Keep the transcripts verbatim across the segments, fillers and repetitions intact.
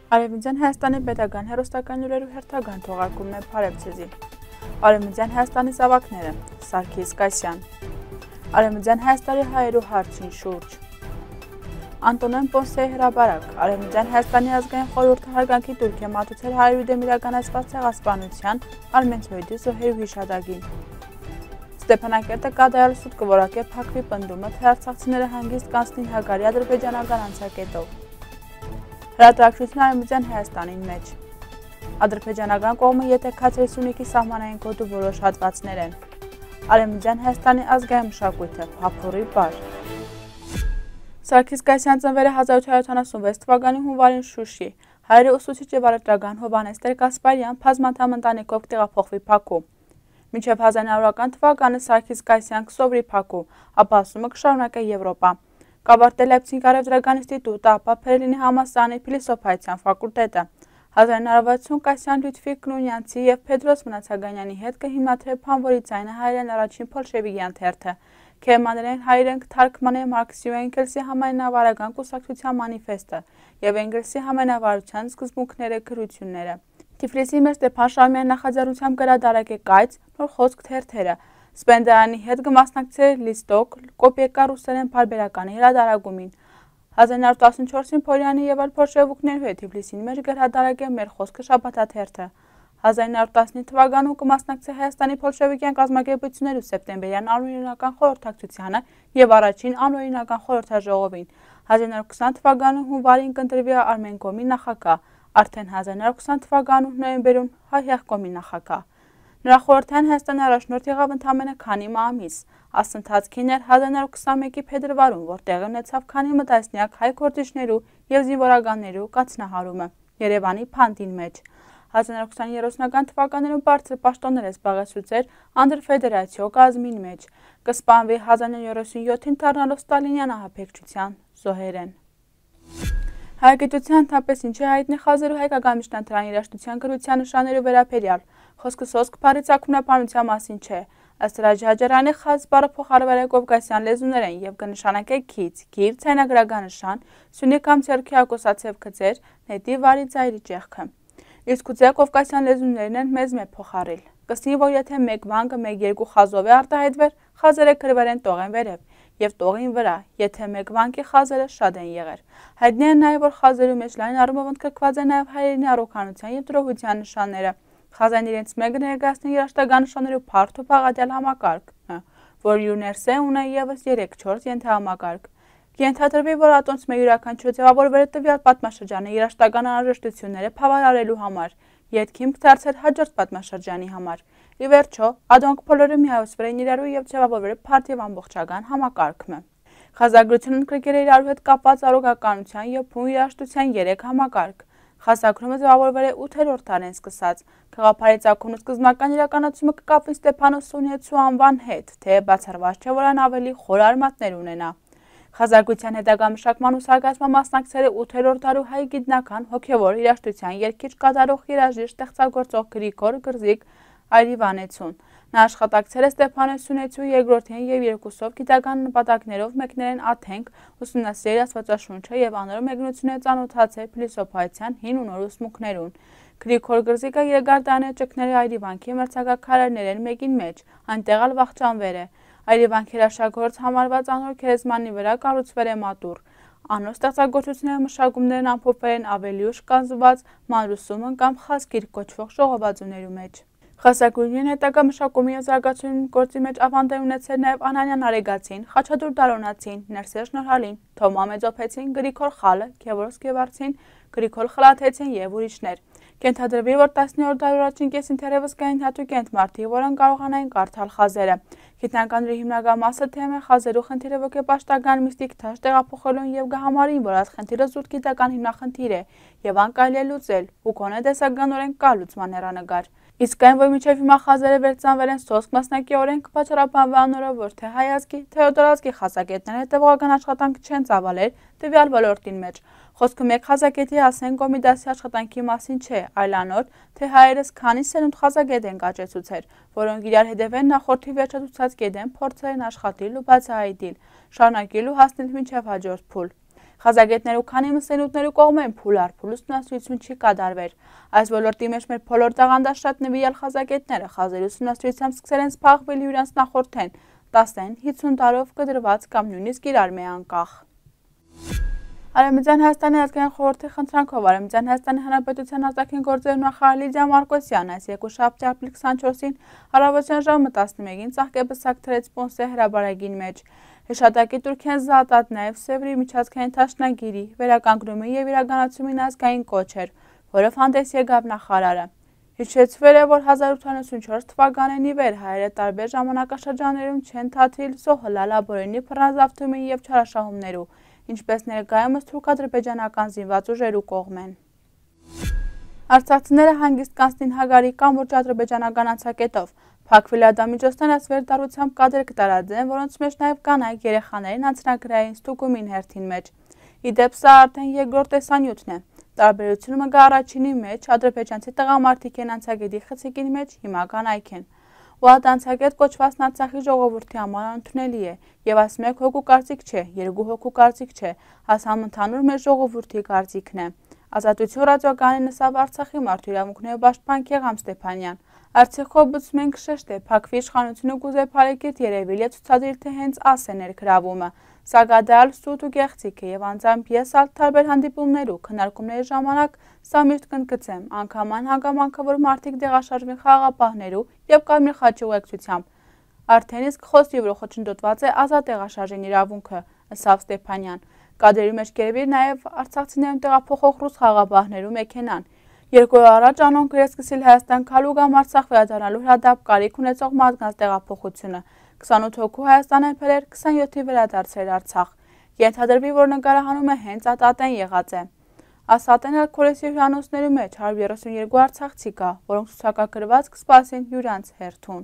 Արևմտյան Հայաստանի պետական հեռուստական լուրերու հերթական թողարկումն է Փարեվցեզի։ Արևմտյան Հայաստանի զավակները Սարգիս Կասյան։ Արևմտյան Հայաստանի հայերու հարցին շուրջ։ Անտոնեն Պոնսեի հրապարակ։ Արևմտյան Հայաստանի ազգային խորհուրդը հարգանքի տուրք է մատուցել հայերու դեմ իրականացված ցեղասպանության Արմենցոյդի զոհերու հիշատակին։ Ստեփանակերտը կատարյալ սուտ կորակե փակվի պնդումը, թե արցախցիները հանգիստ կանցնին հագարի ադրբեջանական անցակետով։ Հրատարակչությունը Արևմտյան Հայաստանին մեջ։ Ադրբեջանական կողմը եթե քացրի Սյունիքի սահմանային գոտու որոշ հատվածներ են։ Արևմտյան Հայաստանի ազգային մշակույթը փափորի բար։ Սարգիս Կասյան ծնվել է հազար ութ հարյուր յոթանասունվեց թվականի հունվարին Շուշի։ Հայրը ուսուցիչ եւ առևտրական Հովհաննես Տեր-Կասպարյան բազմանդամ ընտանիքով կտեղափոխվի Բաքու։ Մինչև հազար ինը հարյուր թվականը Սարգիս Կասյան կսովրի Բաքու, ապա ասումը կշարունակե Եվրոպա։ Կավարտել Լայպցիգ առևտրական ինստիտուտը, ապա Փերելինի համալսարանի փիլիսոփայության ֆակուլտետը։ հազար ինը հարյուր վաթսուն Կասյան Լյուդվիգ Կնունյանցի եւ Փեդրոս Մնացականյանի հետ կհիմնադրե Փանվորի ձայնը հայերեն առաջին փոլշևիկյան թերթը։ Քերմաներեն հայերեն թարգմանե Մարքսի ու Էնգելսի համայնավարական կուսակցության մանիֆեստը եւ Էնգելսի համայնավարության սկզբունքները գրությունները։ Թիֆլիսի մեր Ստեփան Շահումյանի նախաձեռնությամբ գրադարակ է կայց նոր խոսք թերթերը։ Սպենդարանի հետ կմասնակցել Լիստոկ, Կոպեկա ռուսերեն բարբերականի հրադարագումին։ հազար ինը հարյուր տասնչորսին Փորյանի եւ այլ փորշևուկներու հետ Թիֆլիսին մեջ գրադարակ է մեր խոսքը շաբաթաթերթը։ հազար ինը հարյուր տասնինը թվականում կմասնակցի Հայաստանի փոլշևիկյան կազմակերպություններու սեպտեմբերյան անօրինական խորհրդակցությանը եւ առաջին անօրինական խորհրդաժողովին։ հազար ինը հարյուր քսան թվականում հունվարին կընտրվի Արմենկոմի նախագահ, արդեն հազար ինը հարյուր քսան թվականում նոյեմբերում Հայ-Հեղկոմի նախագահ։ Նրա խորհրդային Հայաստանի առաջնորդ եղավ ընդամենը քանի ամիս։ Ասընթացքին էր հազար ինը հարյուր քսանմեկի փետրվարում, որ տեղի ունեցավ քանի մտասնյակ հայ գործիչներու եւ զինվորականներու կաթնահարումը Երևանի Փանտին մեջ։ հազար ինը հարյուր քսաներորդ թվականներում բարձր պաշտոններ է զբաղեցուցեր անդրֆեդերացիո կազմին մեջ։ Կսպանվի հազար ինը հարյուր յոթանասունյոթին դառնալով Ստալինյան ահաբեկչության զոհերեն։ Հայագիտության ընդհանրապես ինչ է հայտնի խազերու հայկական միջնադարային երաժշտության գրության նշաններու վերաբերյալ։ Խոսքը սոսկ բառի ծագումնաբանության մասին չէ։ Ըստ Ռաջաջարյանի խազ բառը փոխարվել է կովկասյան լեզուներեն եւ կնշանակե քիծ, գիր, ցայնագրական նշան, սյունի կամ ձեռքի ակոսացև գծեր, նետի վարի ծայրի ճեղքը։ Իսկ գուցե կովկասյան լեզուներն են մեզ մեծ փոխարել։ Կսնի, որ եթե մեկ վանկը մեկ երկու խազով է արտահայտվել, խազերը գրվել են տողեն վերև եւ տողին վրա, եթե մեկ վանկի խազերը շատ են եղել։ Հայտնի է նաեւ, որ խազերու մեջ լայն առումով ընդգրկված է նաեւ հայերենի առողջության եւ տրոհության նշանները։ Խազան իրենց մեկը ներկայացնի երաշտական նշաններու փարթ ու բաղադրյալ համակարգ, որ յուներսե ունե եւս երեք չորս ենթահամակարգ։ Կենթադրվի, որ ատոնց մեկ յուրաքանչյուր ձևավորվել է տվյալ պատմաշրջանի երաշտական անհրաժեշտությունները բավարարելու համար, ետքիմք դարձել հաջորդ պատմաշրջանի համար։ Ի վերջո, ադոնք բոլորը միավորվել են իրարու եւ ձևավորվել փարթ եւ ամբողջական համակարգը։ Խազագրությունը ընդգրկել է իրարու հետ կապված առողջականության եւ փուն երաշտության երեք համակարգ։ Խասակրումը ձևավորվել է ութերորդ դարեն սկսած։ Գաղափարի ծագումն ու սկզբնական իրականացումը կկապվի Ստեփանոս Սունեցու անվան հետ, թե բացառված չէ, որ այն ավելի խոր արմատներ ունենա։ Խազագրության հետագա մշակման ու զարգացման մասնակցել է ութերորդ դարու հայ գիտնական հոգևոր երաժշտության երգիչ կատարող երաժիշտ ստեղծագործող Գրիգոր Գրզիկ Այրիվանեցուն։ Նա աշխատակցել է Ստեփանոս Սունեցու երկրորդին եւ երկուսով գիտական նպատակներով մեկներեն աթենք, ուսումնասիրել Աստվածաշունչը եւ անոր մեկնությունը ծանոթացել փիլիսոփայության հին ու նոր ուսմունքներուն։ Գրիգոր Գրզիկը երկար տարիներ ճգնել է Այրիվանքի մրցակակարարներեն մեկին մեջ, այնտեղ ալ վախճանվել է։ Այրիվանքի հրաշագործ համարված անոր քերեզմանի վրա կառուցվել է մատուռ։ Անոր ստեղծագործությունները մշակումներն ամփոփվել են ավելի ուշ կազմված մանրուսումն կամ խազգիր կոչվող ժողովածուներու մեջ։ Խասակուրին հետագա մշակումի եւ զարգացումի գործի մեջ ավանդույթ ունեցել նաեւ Անանյան Արեգացին, Խաչատուր Դարոնացին, Ներսես Նորհալին, Թոմա Մեծոփեցին, Գրիգոր Խալը, Գևորգ Գևարցին, Գրիգոր Խլաթեցին եւ ուրիշներ։ Կենթադրվի, որ տասնյորդ դարի առաջին կեսին թերևս կային հատուկ ենթմարտի, որոնք կարողանային կարդալ խազերը։ Գիտնականների հիմնական մասը թեմ է խազերու խնդիրը ոգեպաշտական միստիկ թաշ տեղափոխելուն եւ գահամարին, որ այս խնդիրը զուտ գիտական հիմնախնդիր է եւ անկարելի է լուծել, ու կոնե տեսականորեն կա լուծման հեռանկար։ Իսկ այն, որ մինչև հիմա խազերը վերցանվել են սոսկ մասնակի օրենք, պատճառաբանվել անորով, որ թե հայ ազգի, թե օտարազգի խազակետները տևողական աշխատանք չեն ծավալել տվյալ ոլորտին մեջ։ Խոսքը մեկ խազակետի ասեն կոմիդասի աշխատանքի մասին չէ, այլ անոր, թե հայերս քանի սերունդ խազակետ են կաճեցուցել, որոնք իրար հետևեն նախորդի վերջացուցած կետեն փորձել են աշխատել ու բացահայտել, շարունակել ու հասնել մինչև հաջորդ փուլ։ Խազագետներու քանի մսենութներու կողմեն փուլ առ փուլ ուսումնասիրություն չի կատարվեր։ Այս ոլորտի մեջ մեր բոլոր տաղանդաշատ նվիրյալ խազագետները խազերի ուսումնասիրությամբ սկսել են սփաղվել յուրանց նախորդեն տասն հինգ տարով կդրված կամ նույնիսկ իրար մե անկախ։ Արևմտյան Հայաստանի ազգային խորհրդի խնդրանքով Արևմտյան Հայաստանի Հանրապետության արտաքին գործերի նախարար Լիդիա Մարկոսյանն այս երկուշաբթի ապրիլի քսաներկուսին առավոտյան ժամը տասնմեկին ծաղկեբսակ թրեց Պոնսե հրաբարագին մեջ։ Հեշտակի Թուրքիան զատած նաև Սևրի միջազգային դաշնագիրի վերականգնումի եւ իրականացումին ազգային կոչ էր, որով հանդես եկավ նախարարը։ Հիշեցվել է, որ հազար ութ հարյուր ութսունչորս թվականին ի վեր հայերը տարբեր ժամանակաշրջաններում չեն թատրիլ զոհել Աբորենի բռնազավթումի եւ չարաշահումներու, ինչպես ներկայումս թուրք-ադրբեջանական զինված ուժերու կողմեն։ Արցախցիները հանգիստ կանցնին Հագարի կամուրջ ադրբեջանական անցակետով, փակվել ադամիջոցներն ասվերդարությամբ կադրեր կտարածեն, որոնց մեջ նաև կանայք երեխաներին անձնագրային ստուգումին հերթին մեջ։ Իդեպ սա արդեն երկրորդ տեսանյութն է։ Տարբերությունը մգա առաջինի մեջ ադրբեջանցի տղամարդիկ են անցագետի խցիկին մեջ, հիմա կանայք են։ Ու այդ անցագետ կոչվածն Արցախի ժողովրդի համար ընդունելի է, եւ այս մեկ հոգու կարծիք չէ, երկու հոգու կարծիք չէ, հասամ ընդհանուր մեր ժողովրդի կարծիքն է։ Ազատություն ռադիոկայանի նսավ Արցախի մարդու իրավունքների պաշտպան Քեղամ Ստեփանյան։ Արցախով բծում ենք շեշտ է, փակվի իշխանությունը կուզե փարեկետ երևիլ է ցուցադրել, թե հենց աս է ներգրավումը։ Սա գադալ սուտ ու գեղցիկ է եւ անձամբ ես ալ տարբեր հանդիպումներու քննարկումների ժամանակ սա միշտ կընդգծեմ, անգամ այն հանգամանքը, որ մարդիկ դեղաշարժվին խաղաղապահներու եւ Կարմիր խաչի ուղեկցությամբ։ Արդեն իսկ խոսքի վրա խոչընդոտված է ազատ տեղաշարժին իրավունքը, ըստ Ստեփանյան։ Կադրերի մեջ կերևի նաև արցախցիներուն տեղափոխող ռուս խաղաղապահներու մեքենան։ Երկու օր առաջ անոնք էր սկսել Հայաստան քալու կամ Արցախ վերադառնալու հրադապ կարիք ունեցող մարդկանց տեղափոխությունը։ քսանութ հոգու Հայաստան են բերել, քսանյոթի վերադարձել Արցախ։ Ենթադրվի, որ նկարահանումը հենց ատատեն եղած է։ Ասատեն էլ քորեսի հյուրանոցների մեջ հարյուր երեսունյոթ արցախցի կա, որոնք ցուցակագրված կսպասին յուրանց հերթուն։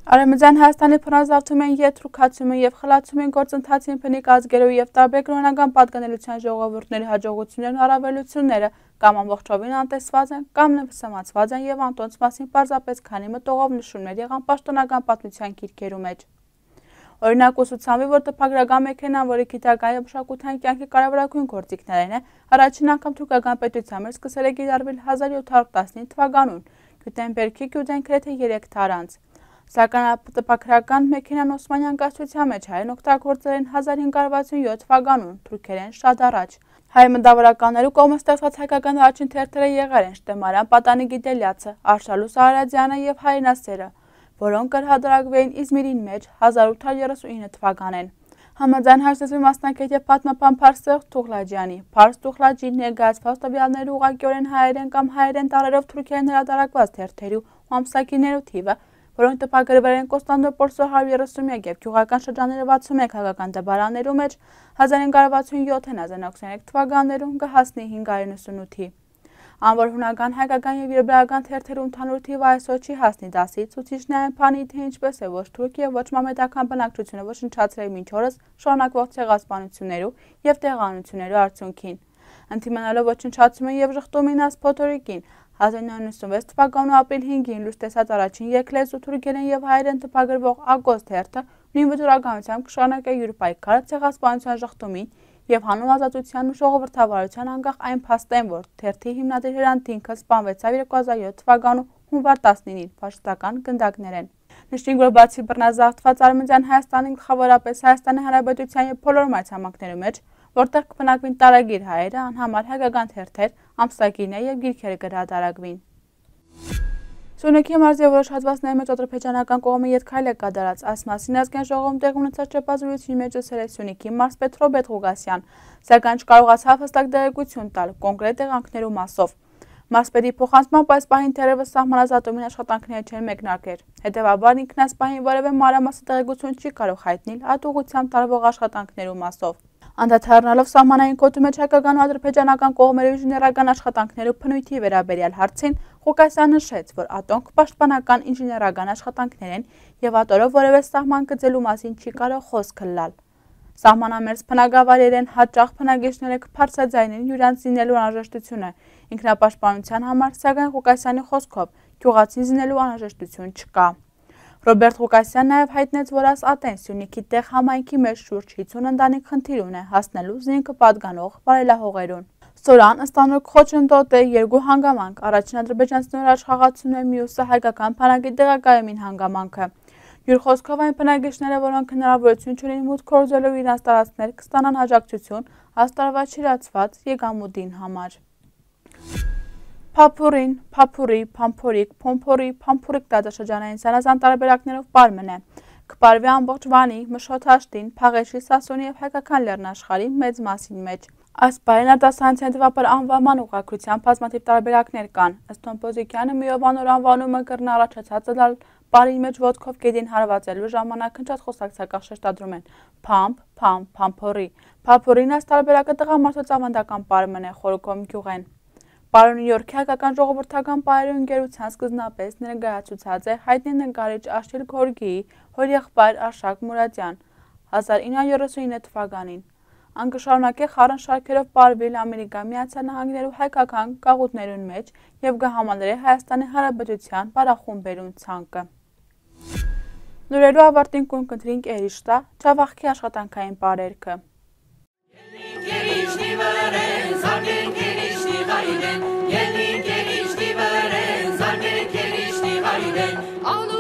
Արևմտյան Հայաստանի բռնազավթում են եթրուքացումը եւ խլացումին գործընթացին բնիկ ազգերով եւ տարբեր կրոնական պատկանելիության ժողովուրդների հաջողություններն ու առավելությունները կամ ամբողջովին անտեսված են կամ նվսամացված են եւ անտոնց մասին պարզապես քանի մտողով նշումներ եղան պաշտոնական պատմության գիրքերու մեջ։ Օրինակ ուսուցանվի, որ տպագրական մեքենան, որի գիտական եւ մշակութային կյանքի կարևորագույն գործիքներն է, առաջին անգամ թուրքական պետության մեջ սկսել է կիրառվել հազար յոթ հարյուր տասնինը թվականուն, Գյուտենբերգի գյուտեն գրեթե երեք թար անց։ Սակայն տպագրական մեքենան Օսմանյան կայսրության մեջ հայերն օգտագործել են հազար հինգ հարյուր վաթսունյոթ թվականուն, թուրքերեն շատ առաջ։ Հայ մտավորականներու կողմից ստեղծված հայկական առաջին թերթերը եղել են Շտեմարյան Պատանի Գիտելյացը, Արշալուս Արարատյանը եւ Հայրենասերը, որոնք կրհադրակվեին Իզմիրին մեջ հազար ութ հարյուր երեսունինը թվականին։ Համաձայն հաշտեցվի մասնակետ եւ պատմապան Փարսեղ Թուղլաջյանի, Փարս Թուղլաջի ներկայացված տվյալներու ուղղակիորեն հայերեն կամ հայերեն տառերով թուրքերեն հրատարակված թերթերու ու ամսակիներու թիվը, որոնք տպագրվել են Կոստանդնուպոլսի հարյուր երեսունմեկ եւ գյուղական շրջանների վաթսունմեկ հայկական դպարաններու մեջ հազար հինգ հարյուր վաթսունյոթ հազար իննսուն ութ թվականներում կհասնի հինգ հարյուր նվսունութի։ Անոր հունական հայկական եւ եբրայական թերթերու ընդհանուր թիվը այսօր չի հասնի դասի, ցուցիչն այն բանի թե ինչպես է ոչ թուրք եւ ոչ մամեդական բնակչությունը ոչնչացրել մինչ օրս շարունակվող ցեղասպանություններու եւ տեղանություններու արդյունքին։ Ընդդիմանալով ոչնչացումին եւ ժխտումին աս փոթորիկին հազար իննսուն նվսունվեց թվականու ապրիլ հինգին լույս տեսած առաջին երկլեզու թուրքերեն եւ հայերեն տպագրվող Ագոս թերթը նույն վճռականությամբ կշարունակե իր պայքարը ցեղասպանության ժխտումին եւ հանուն ազատության ու ժողովրդավարության անկախ այն փաստեն, որ թերթի հիմնադիր Հրանտ Դինքը սպանվեցավ երկու հազար յոթ թվականու հունվար տասնինին ֆաշիստական գնդակներեն։ Նշենք, որ բացի բռնազավթված Արևմտյան Հայաստանի գլխավորապես Հայաստանի Հանրապետության եւ բոլոր մայրցամաքներու մեջ, որտեղ կբնակվին տարագիր հայերը, անհամար հայկական թերթեր, ամսագիրներ եւ գիրքեր կհրատարակվին։ Սյունիքի մարզի որոշ հատվածների մեջ ադրբեջանական կողմի ետքայլ է կատարած, այս մասին ազգային ժողովում տեղի ունեցած ճեպազրույցի մեջ ասել է Սյունիքի մարզպետ Ռոբերտ Ղուգասյան, սակայն չկարողացավ հստակ տեղեկություն տալ կոնկրետ տեղանքներու մասով։ Մարզպետի փոխանցմամբ այս պահին թերևս սահմանազատումին աշխատանքները չեն մեկնարկել։ Հետևաբար ինքն այս պահին որևէ մանրամասն տեղեկություն չի կարող հայտնել այդ ուղղությամբ տարվող աշխատանքներու մասով։ Անդադառնալով սահմանային գոտու մեջ հայկական ու ադրբեջանական կողմերի ինժեներական աշխատանքներու բնույթի վերաբերյալ հարցին, Ղուգասյանը նշեց, որ ատոնք պաշտպանական ինժեներական աշխատանքներ են եւ ատորով որևէ սահման գծելու մասին չի կարող խոսք լալ։ Սահմանամերձ բնակավայրերեն հաճախ բնակիչները կբարձրաձայնեն յուրանց զինելու անհրաժեշտությունը ինքնապաշտպանության համար, սակայն Ղուգասյանի խոսքով գյուղացին զինելու անհրաժեշտություն չկա։ Ռոբերտ Ղուկասյանն նաև հայտնեց, որ աս ատեն Սյունիքի տեղ համայնքի մեջ շուրջ հինգ ընտանիք խնդիր ունի հասնելու զինքը պատկանող վարելահողերուն։ Ստորան ըստանոք խոչընդոտ է երկու հանգամանք, առաջին ադրբեջանցիներ աշխատացում է, մյուսը հայկական բանակի տեղակայումին հանգամանքը։ Յուր խոսքով այն բնակիչները, որոնք հնարավորություն չունեն մուտք գործելու իրենց տարածքներ, կստանան աջակցություն աստարվա չիրացված եկամուտին համար։ Փափուրին, փափուրի, փամփորիկ, փոմփորի, փամփուրիկ տարածաշրջանային զանազան տարբերակներով պարմն է։ Կպարվի ամբողջ Վանի, Մշոթաշտին, Փաղեշի, Սասունի և հայկական լեռնաշխարհի մեծ մասին մեջ։ Այս պարին արտասահմանցիային տվապար անվանման ուղղակրությամբ բազմաթիվ տարբերակներ կան։ Ըստ Տոմպոզիկյանը միով անոր անվանումը կրնա առաջացած լալ պարին մեջ ոտքով գետին հարվածելու ժամանակ հնչած խոսակցական շեշտադրում են փամփ, փամ, փամփորի։ Փափուրին այս տարբերակը տղամարդոց ավանդական պարմն է, խորոկոմ գյուղեն։ Պարը Նյու Յորքի հայկական ժողովրդական պարերի ընկերության սկզբնապես ներկայացուցած է հայտնի նկարիչ Աշիլ Գորգիի հորեղբայր Արշակ Մուրադյան հազար ինը հարյուր յոթսունինը թվականին։ Ան կշարունակե խառն շարքերով պարվել Ամերիկա Միացյալ Նահանգներու հայկական գաղութներուն մեջ եւ կհամալրի Հայաստանի Հանրապետության պարախումբերուն ցանկը։ Լուրերու ավարտին կուն կընտրինք Էրիշտա, Չավախքի աշխատանքային պարերքը։ All